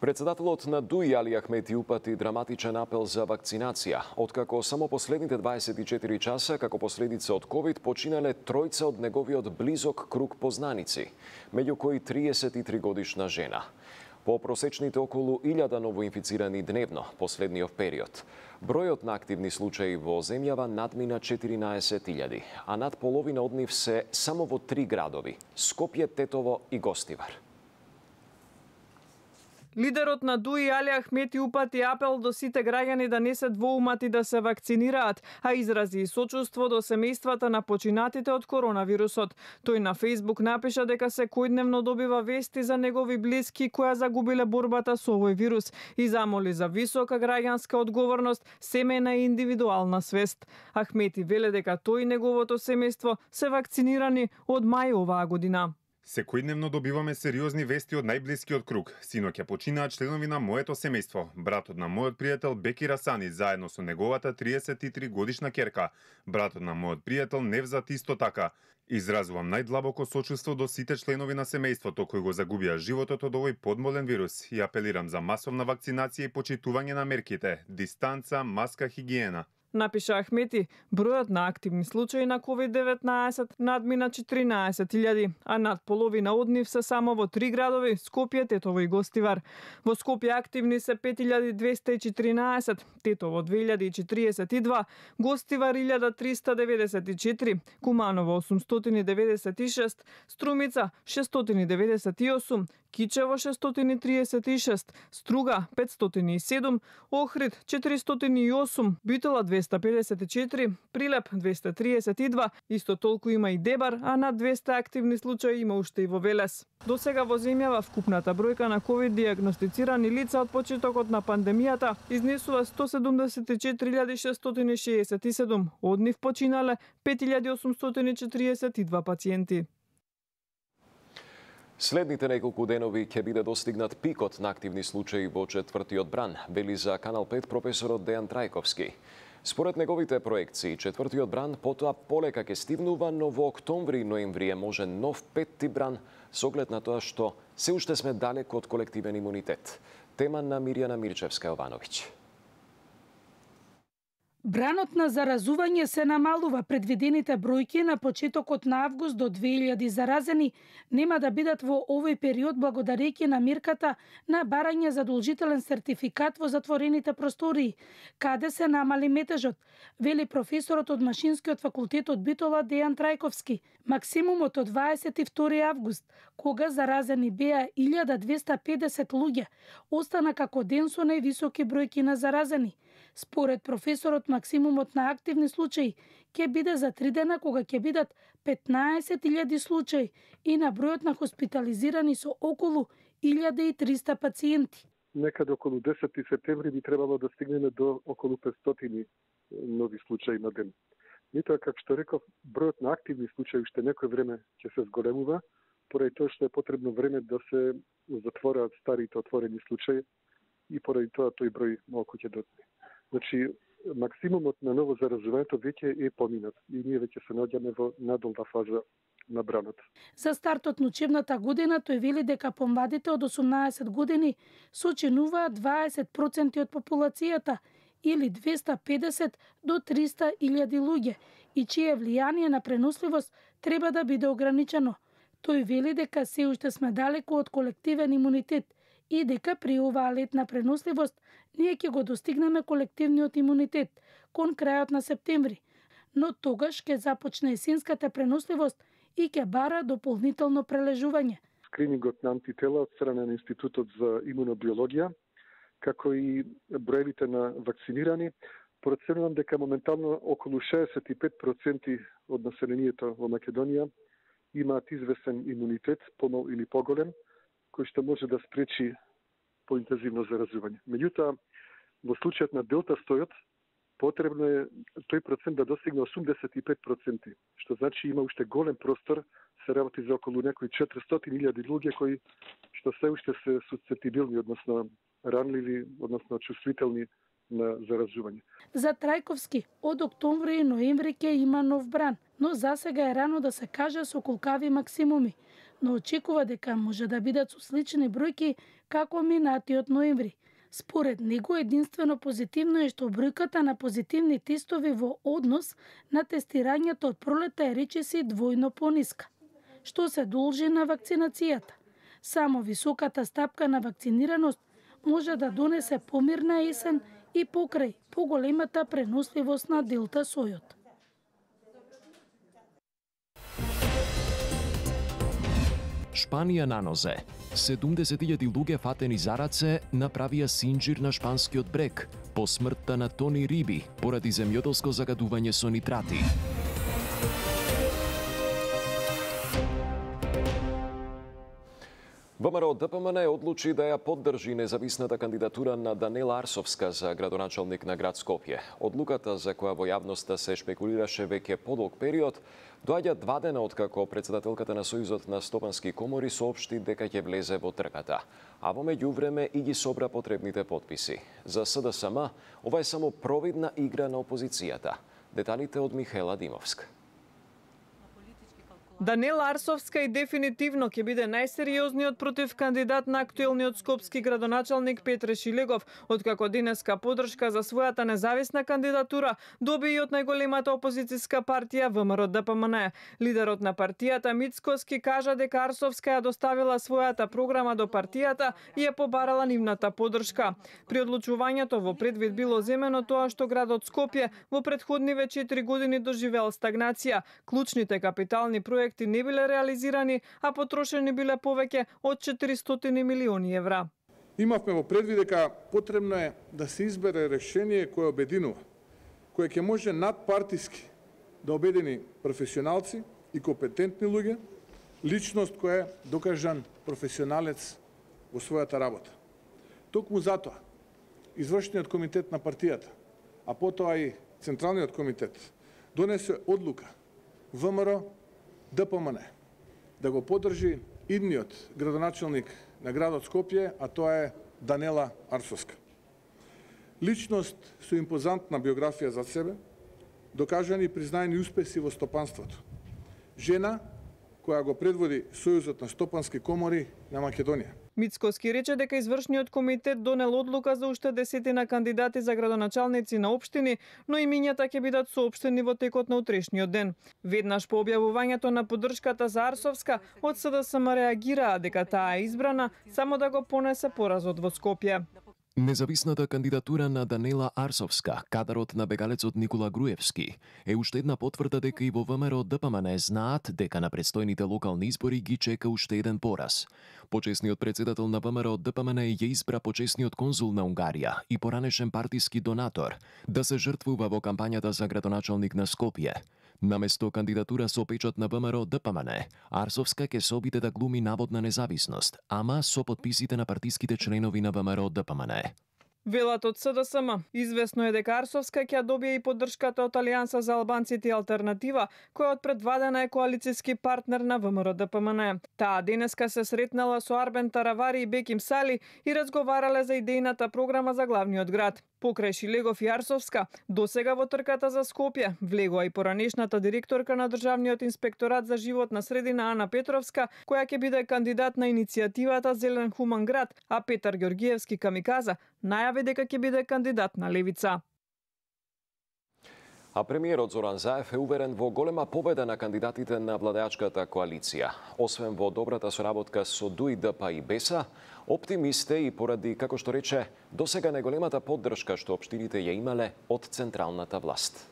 Председателот на ДУИ Али Ахмети упати драматичен апел за вакцинација, откако само последните 24 часа како последица од ковид починале тројца од неговиот близок круг познаници, меѓу кои 33 годишна жена. По просечните околу 1000 новоинфицирани дневно последниот период, бројот на активни случаи во земјава надмина 14.000, а над половина од нив се само во 3 градови – Скопје, Тетово и Гостивар. Лидерот на ДУИ Али Ахмети упати апел до сите граѓани да не се двоумати да се вакцинираат, а изрази и сочувство до семејствата на починатите од коронавирусот. Тој на Фејсбук напиша дека секојдневно добива вести за негови блиски кои загубиле борбата со овој вирус и замоли за висока граѓанска одговорност, семејна и индивидуална свест. Ахмети веле дека тој и неговото семејство се вакцинирани од мај оваа година. Секојдневно добиваме сериозни вести од најблискиот круг. Синоќа починаа членови на моето семејство. Братот на мојот пријател Бекир Асани заедно со неговата 33 годишна ќерка. Братот на мојот пријател Невзат исто така. Изразувам најдлабоко сочувство до сите членови на семејството кои го загубија животот од овој подмолен вирус и апелирам за масовна вакцинација и почитување на мерките, дистанца, маска, хигиена. Напиша Ахмети, бројот на активни случаи на COVID-19 надмина 14.000, а над половина од нив се само во 3 градови – Скопје, Тетово и Гостивар. Во Скопје активни се 5214, Тетово 2042, Гостивар 1394, Куманово 896, Струмица 698, Кичево 636, Струга 507, Охрид 408, Битола 254, Прилеп 232, исто толку има и Дебар, а над 200 активни случаи има уште и во Велес. До сега во земјава вкупната бројка на ковид диагностицирани лица од почетокот на пандемијата изнесува 174.667, од нив починале 5.842 пациенти. Следните неколку денови ќе биде достигнат пикот на активни случаи во четвртиот бран, вели за Канал 5 професорот Дејан Трајковски. Според неговите проекции, четвртиот бран потоа полека ќе стигнува, но во октомври и ноември може нов петти бран со оглед на тоа што се уште сме далеку од колективен имунитет. Тема на Мирјана Мирчевска-Јовановиќ. Бранот на заразување се намалува. Предвидените бројки на почетокот на август до 2000 заразени нема да бидат во овој период благодарејќи на мерката на барање задолжителен сертификат во затворените простории, каде се намали метежот, вели професорот од Машинскиот факултет од Битола Дејан Трајковски. Максимумот од 22 август, кога заразени беа 1250 луѓе, остана како ден со највисоки бројки на заразени. Според професорот, максимумот на активни случаи ќе биде за 3 дена, кога ќе бидат 15.000 случаи и на бројот на хоспитализирани со околу 1300 пациенти. Некаде околу 10 септември би требало да стигнеме до околу 500 нови случаи на ден. Меѓутоа, како што реков, бројот на активни случаи уште некој време ќе се зголемува, поради тоа што е потребно време да се затворат старите отворени случаи и поради тоа тој број малку ќе доцне. Значи, максимумот на ново заразувањето веќе е поминат и ние веќе се наоѓаме во надолна фаза на бранот. За стартот на учебната година тој вели дека помладите од 18 години сочинуваат 20% од популацијата или 250 до 300.000 луѓе и чие влијание на преносливост треба да биде ограничено. Тој вели дека се уште сме далеку од колективен имунитет и дека при оваа летна преносливост ние ќе го достигнеме колективниот имунитет кон крајот на септември, но тогаш ќе започне есенската преносливост и ќе бара дополнително прележување. Скринингот на антитела од страна на Институтот за имунобиологија, како и броевите на вакцинирани, проценувам дека моментално околу 65% од населението во Македонија имаат известен имунитет, помал или поголем, кој што може да спречи поинтензивно заразување. Меѓутоа, во случајот на Делта стојот, потребно е тој процент да достигне 85%, што значи има уште голем простор, се работи за околу некои 400.000 луѓе кои што се уште се сусцептибилни, односно ранливи, односно чувствителни на заразување. За Трајковски, од октомври и ноември ќе има нов бран, но засега е рано да се каже со колкави максимуми. но очекува дека може да бидат со слични бројки како минатиот ноември. Според него, единствено позитивно е што бројката на позитивни тестови во однос на тестирањето од пролета е речиси двојно пониска, што се должи на вакцинацијата. Само високата стапка на вакцинираност може да донесе помирна есен и покрај поголемата преносливост на делта сојот. Шпанија на нозе. 70.000 луѓе фатени за раце направија синџир на шпанскиот брег по смртта на тони риби поради земјоделско загадување со нитрати. ВМРО ДПМН одлучи да ја поддржи независната кандидатура на Данела Арсовска за градоначалник на град Скопје. Одлуката, за која во јавноста се шпекулираше веќе подолг период, доаѓа 2 дена откако председателката на Сојузот на стопански комори соопшти дека ќе влезе во трката, а во меѓувреме и ги собра потребните потписи. За СДСМ, ова е само провидна игра на опозицијата. Деталите од Михаела Димовска. Данела Арсовска и дефинитивно ќе биде најсериозниот против кандидат на актуелниот скопски градоначалник Петре Шилегов, откако денеска поддршка за својата независна кандидатура доби и од најголемата опозицијска партија ВМРО ДПМН. Лидерот на партијата Мицкоски кажа дека Арсовска ја доставила својата програма до партијата и ја побарала нивната поддршка. При одлучувањето во предвид било земено тоа што градот Скопје во претходниве 4 години доживеал стагнација. Клучните капитални проекти не биле реализирани, а потрошени биле повеќе од 400 милиони евра. Имавме во предвид дека потребно е да се избере решение кое обединува, кое ќе може надпартиски да обедини професионалци и компетентни луѓе, личност која е докажан професионалец во својата работа. Токму затоа, извршниот комитет на партијата, а потоа и Централниот комитет, донесе одлука ВМРО ДПМН да го поддржи идниот градоначалник на градот Скопје, а тоа е Данела Арсовска. Личност со импозантна биографија за себе, докажани и признаени успеси во стопанството. Жена која го предводи Сојузот на стопански комори на Македонија. Мицкоски рече дека извршниот комитет донел одлука за уште 10 кандидати за градоначалници на општини, но имињата ќе бидат соопштени во текот на утрешниот ден. Веднаш по објавувањето на поддршката за Арсовска, од СДСМ реагираа дека таа е избрана само да го понесе поразот во Скопје. Независната кандидатура на Данела Арсовска, кадарот на бегалецот Никола Груевски, е уште една потврда дека и во ВМРО ДПМН знаат дека на предстојните локални избори ги чека уште еден пораз. Почесниот председател на ВМРО ДПМН ја избра почесниот конзул на Унгарија и поранешен партиски донатор да се жртвува во кампањата за градоначалник на Скопје. Наместо кандидатура со печат на ВМРО ДПМН, Арсовска ќе се обиде да глуми наводна независност, ама со потписите на партиските членови на ВМРО ДПМН. Велат од СДСМ. Известно е дека Арсовска ќе добие и поддршката од Алијанса за албанците и Алтернатива, која од пред 2 дена е коалицијски партнер на ВМРО ДПМН. Таа денеска се сретнала со Арбен Таравари и Беким Сали и разговарале за идејната програма за главниот град. Покрај Шилегов и Арсовска, досега во трката за Скопје влегува и поранешната директорка на Државниот инспекторат за животна средина Ана Петровска, која ќе биде кандидат на иницијативата Зелен хуман град, а Петар Ѓоргиевски Камиказа најави дека ќе биде кандидат на Левица. А премиерот Зоран Заев е уверен во голема победа на кандидатите на владеачката коалиција. Освен во добрата соработка со ДУИДП и БЕСА, оптимист е и поради, како што рече, досега најголемата поддршка што општините ја имале од централната власт.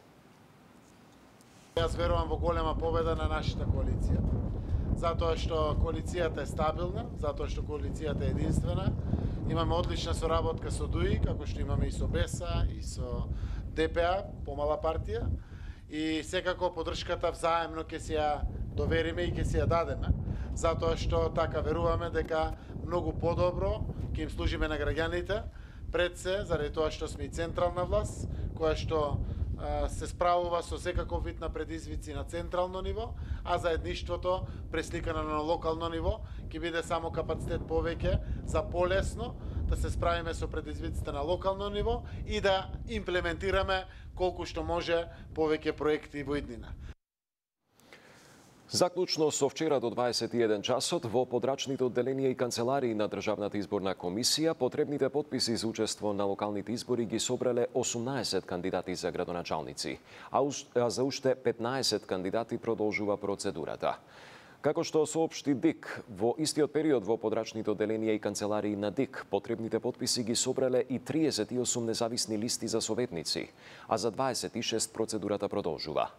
Јас верувам во голема победа на нашата коалиција. Затоа што коалицијата е стабилна, затоа што коалицијата е единствена. Имаме одлична соработка со ДУИ, како што имаме и со БЕСА, и со ДПА, помала партија, и секако поддршката взаемно ќе се ја довериме и ќе се ја дадеме, затоа што така веруваме дека многу подобро ќе им служиме на граѓаните, пред се заради тоа што сме и централна власт, која што се справува со секаков вид на предизвици на централно ниво, а заедништвото пресликано на локално ниво ќе биде само капацитет повеќе за полесно да се справиме со предизвиците на локално ниво и да имплементираме колку што може повеќе проекти во иднина. Заклучно со вчера до 21 часот во подрачните одделенија и канцеларии на Државната изборна комисија потребните потписи за учество на локалните избори ги собрале 18 кандидати за градоначалници, а за уште 15 кандидати продолжува процедурата. Како што соопшти ДИК, во истиот период во подрачните одделенија и канцеларии на ДИК потребните потписи ги собрале и 38 независни листи за советници, а за 26 процедурата продолжува.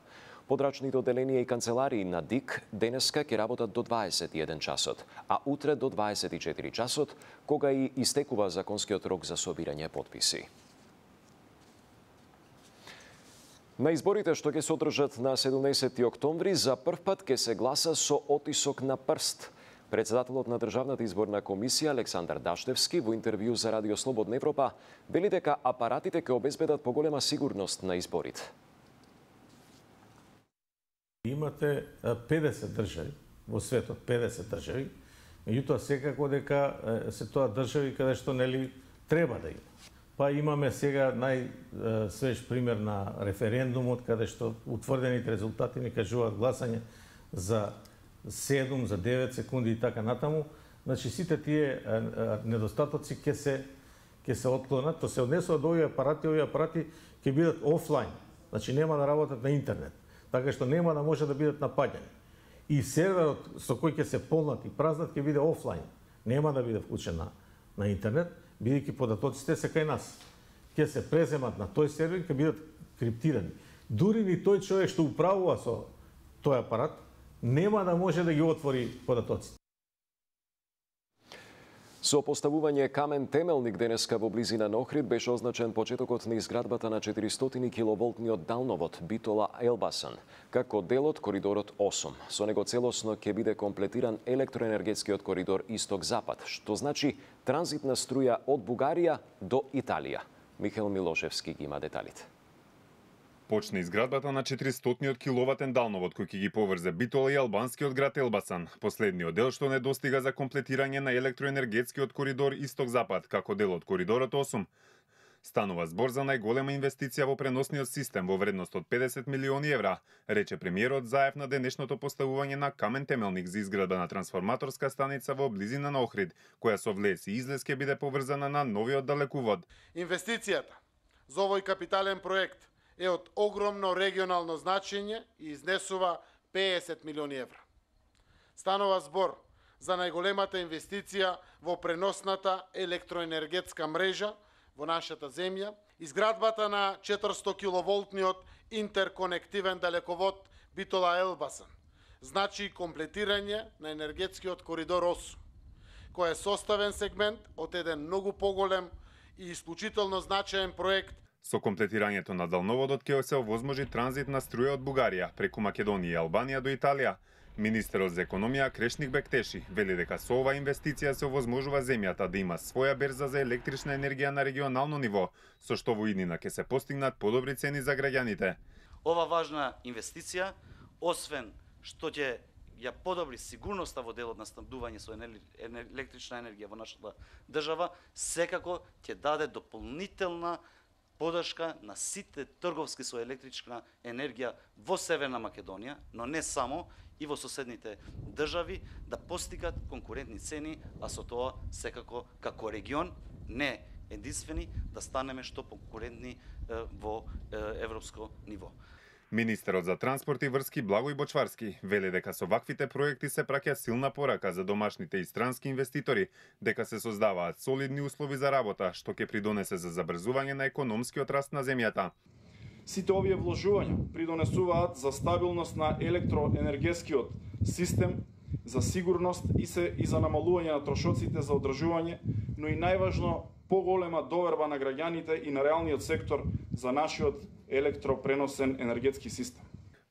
Подрачните одделенија и канцеларии на ДИК денеска ќе работат до 21 часот, а утре до 24 часот, кога и истекува законскиот рок за собирање потписи. На изборите што ќе се одржат на 17 октомври, за прв пат ќе се гласа со отисок на прст. Председателот на Државната изборна комисија Александар Даштевски во интервју за Радио Слободна Европа вели дека апаратите ќе обезбедат поголема сигурност на изборите. Имате 50 држави во светот, 50 држави, меѓутоа секако дека се тоа држави каде што нели треба да има. Па имаме сега најсвеж пример на референдумот каде што утврдените резултати ми кажуваат гласање за 7, за 9 секунди и така натаму. Значи сите тие недостатоци ќе се отклонат, то се однесува до овие апарати ќе бидат офлайн. Значи нема да работат на интернет, така што нема да може да бидат напаѓани. И серверот со кој ќе се полнат и празнат ќе биде офлайн. Нема да биде вклучен на интернет, бидејќи податоците се кај нас. Ќе се преземат на тој сервер, ќе бидат криптирани. Дури ни тој човек што управува со тој апарат нема да може да ги отвори податоците. Со поставување камен темелник денеска во близина на Охрид беше означен почетокот на изградбата на 400 киловолтниот далновод Битола-Елбасан, како дел од коридорот 8. Со него целосно ќе биде комплетиран електроенергетскиот коридор Исток-Запад, што значи транзитна струја од Бугарија до Италија. Михаил Милошевски ги има деталите. Почна изградбата на 400 киловатен далновод кој ќе ги поврзе Битола и албанскиот град Елбасан. Последниот дел што не достига за комплетирање на електроенергетскиот коридор Исток-Запад како дел од коридорот 8. Станува збор за најголема инвестиција во преносниот систем во вредност од 50 милиони евра, рече премиерот заев на денешното поставување на камен темелник за изградба на трансформаторска станица во близина на Охрид, која со влез и излез ќе биде поврзана на новиот далекувод. Инвестицијата за овој капитален проект е од огромно регионално значење и изнесува 50 милиони евра. Станува збор за најголемата инвестиција во преносната електроенергетска мрежа во нашата земја, изградбата на 400 киловолтниот интерконективен далековод Битола-Елбасан, значи комплетирање на енергетскиот коридор 8, кој е составен сегмент од еден многу поголем и исклучително значаен проект. Со комплетирањето на далноводот ќе се овозможи транзит на струја од Бугарија преку Македонија и Албанија до Италија. Министерот за економија Крешник Бектеши вели дека со ова инвестиција се овозможува земјата да има своја берза за електрична енергија на регионално ниво, со што во иднина ќе се постигнат подобри цени за граѓаните. Ова важна инвестиција, освен што ќе ја подобри сигурноста во делот на снабдување со електрична енергија во нашата држава, секако ќе даде дополнителна подршка на сите трговски со електрична енергија во Северна Македонија, но не само, и во соседните држави, да постигат конкурентни цени, а со тоа секако како регион, не единствени, да станеме што конкурентни во европско ниво. Министерот за транспорт и врски Благој Бочварски вели дека со ваквите проекти се праќа силна порака за домашните и странски инвеститори, дека се создаваат солидни услови за работа, што ќе придонесе за забрзување на економскиот раст на земјата. Сите овие вложувања придонесуваат за стабилност на електроенергетскиот систем, за сигурност и за намалување на трошоците за одржување, но и најважно поголема доверба на граѓаните и на реалниот сектор за нашиот електропреносен енергетски систем.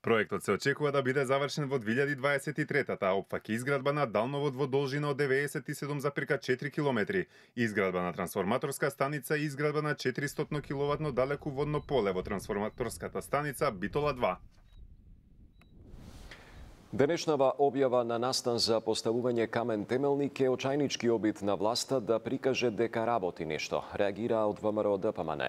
Проектот се очекува да биде завршен во 2023-та, а опфаќа изградба на далновод во должина од 97,4 километри, изградба на трансформаторска станица и изградба на 400 киловатно далекуводно поле во трансформаторската станица Битола 2. Денешнава објава на настан за поставување камен темелник е очајнички обид на власта да прикаже дека работи нешто, реагира од ВМРО ДПМН.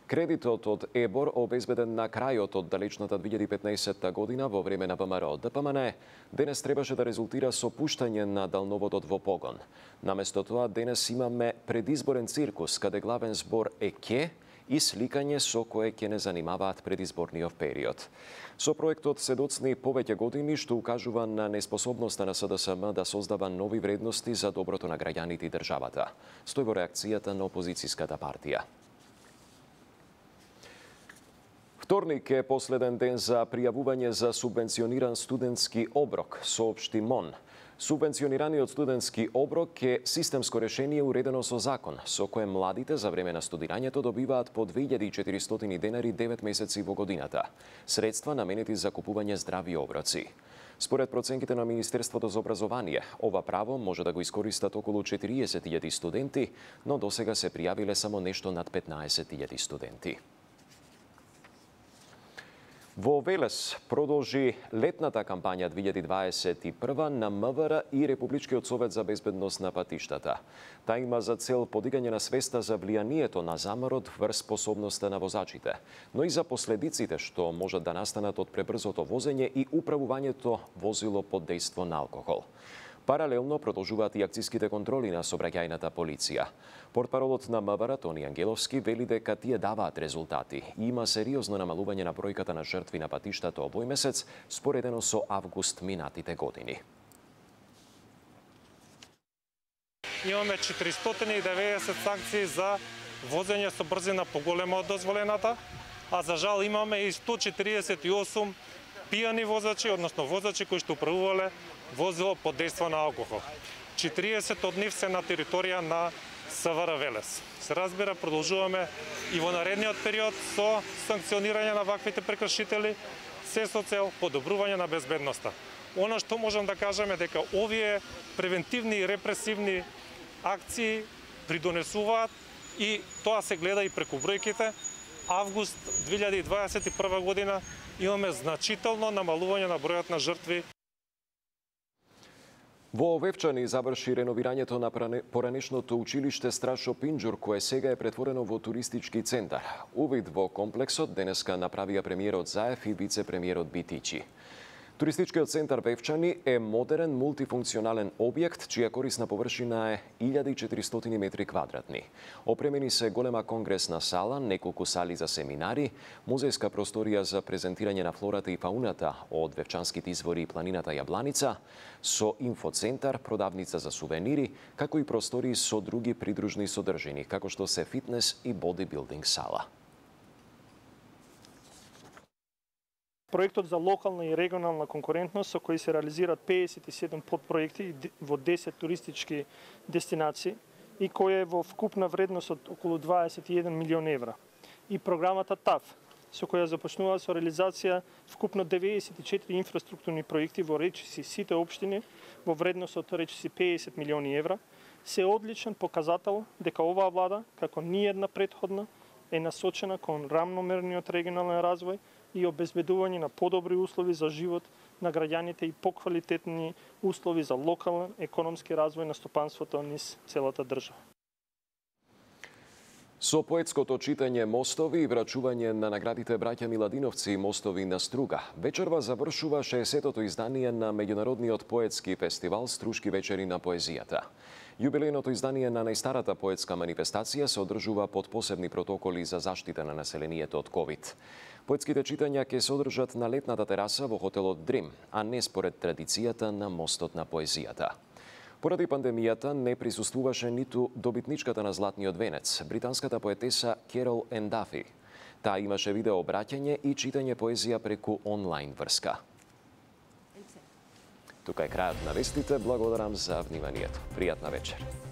Кредитот од ЕБОР обезбеден на крајот од далечната 2015 година во време на ВМРО ДПМН, денес требаше да резултира со пуштање на далноводот во погон. Наместо тоа, денес имаме предизборен циркус, каде главен збор е ке и сликање со кое ќе не занимаваат предизборниот период. Со проектот се доцни повеќе години, што укажува на неспособноста на СДСМ да создава нови вредности за доброто на граѓаните и државата. Стои во реакцијата на опозицијската партија. Вторник е последен ден за пријавување за субвенциониран студентски оброк, соопшти МОН. Субвенционираниот студентски оброк е системско решение уредено со закон, со кое младите за време на студирањето добиваат по 2400 денари 9 месеци во годината. Средства наменети за купување здрави оброци. Според проценките на Министерството за образование, ова право може да го искористат околу 40.000 студенти, но досега се пријавиле само нешто над 15.000 студенти. Во Велес продолжи летната кампања 2021 на МВР и Републичкиот совет за безбедност на патиштата. Та има за цел подигање на свеста за влијанието на заморот врз способноста на возачите, но и за последиците што можат да настанат од пребрзото возење и управувањето возило под дејство на алкохол. Паралелно продолжуваат и акциските контроли на сообраќајната полиција. Портпаролот на МВР Тони Ангеловски вели дека тие даваат резултати и има сериозно намалување на бројката на жртви на патиштата овој месец, споредено со август минатите години. Имаме 490 санкции за возење со брзина поголема од дозволената, а за жал имаме и 148 пијани возачи, односно возачи кои што управувале возило под дејство на алкохол. 40 од нив се на територија на СВР Велес. Се разбира, продолжуваме и во наредниот период со санкционирање на ваквите прекршители, се со цел подобрување на безбедноста. Она што можам да кажам е дека овие превентивни и репресивни акции придонесуваат и тоа се гледа и преку бројките. Август 2021 година имаме значително намалување на бројот на жртви. Во Овевчани заврши реновирањето на поранешното училиште Страшо Пинџур, кое сега е претворено во туристички центар. Увид во комплексот денеска направија премиерот Заев и вице-премиерот Битичи. Туристичкиот центар Вевчани е модерен мултифункционален објект, чија корисна површина е 1400 метри квадратни. Опремени се голема конгресна сала, неколку сали за семинари, музејска просторија за презентирање на флората и фауната од вевчанските извори и планината Јабланица, со инфоцентар, продавница за сувенири, како и простории со други придружни содржини, како што се фитнес и бодибилдинг сала. Проектот за локална и регионална конкурентност со кој се реализираат 57 подпроекти во 10 туристички дестинации и кој е во вкупна вредност од околу 21 милион евра. И програмата ТАФ, со која започнува со реализација вкупно 94 инфраструктурни проекти во речиси сите општини во вредност од речиси 50 милиони евра, се одличен показател дека оваа влада, како ниедна претходна, е насочена кон рамномерниот регионален развој и обезбедување на подобри услови за живот на граѓаните и поквалитетни услови за локален економски развој на стопанството низ целата држава. Со поетското читање Мостови и врачување на наградите браќа Миладиновци и Мостови на Струга, вечерва завршува 60-тото издание на меѓународниот поетски фестивал Струшки вечери на поезијата. Јубилејното издание на најстарата поетска манифестација се одржува под посебни протоколи за заштита на населението од ковид. Поетските читања ќе се одржат на летната тераса во хотелот Дрим, а не според традицијата на Мостот на поезијата. Поради пандемијата не присуствуваше ниту добитничката на Златниот венец, британската поетеса Керол Ендафи. Таа имаше видео обраќање и читање поезија преку онлайн врска. Тука е крајот на вестите. Благодарам за вниманието. Пријатна вечер.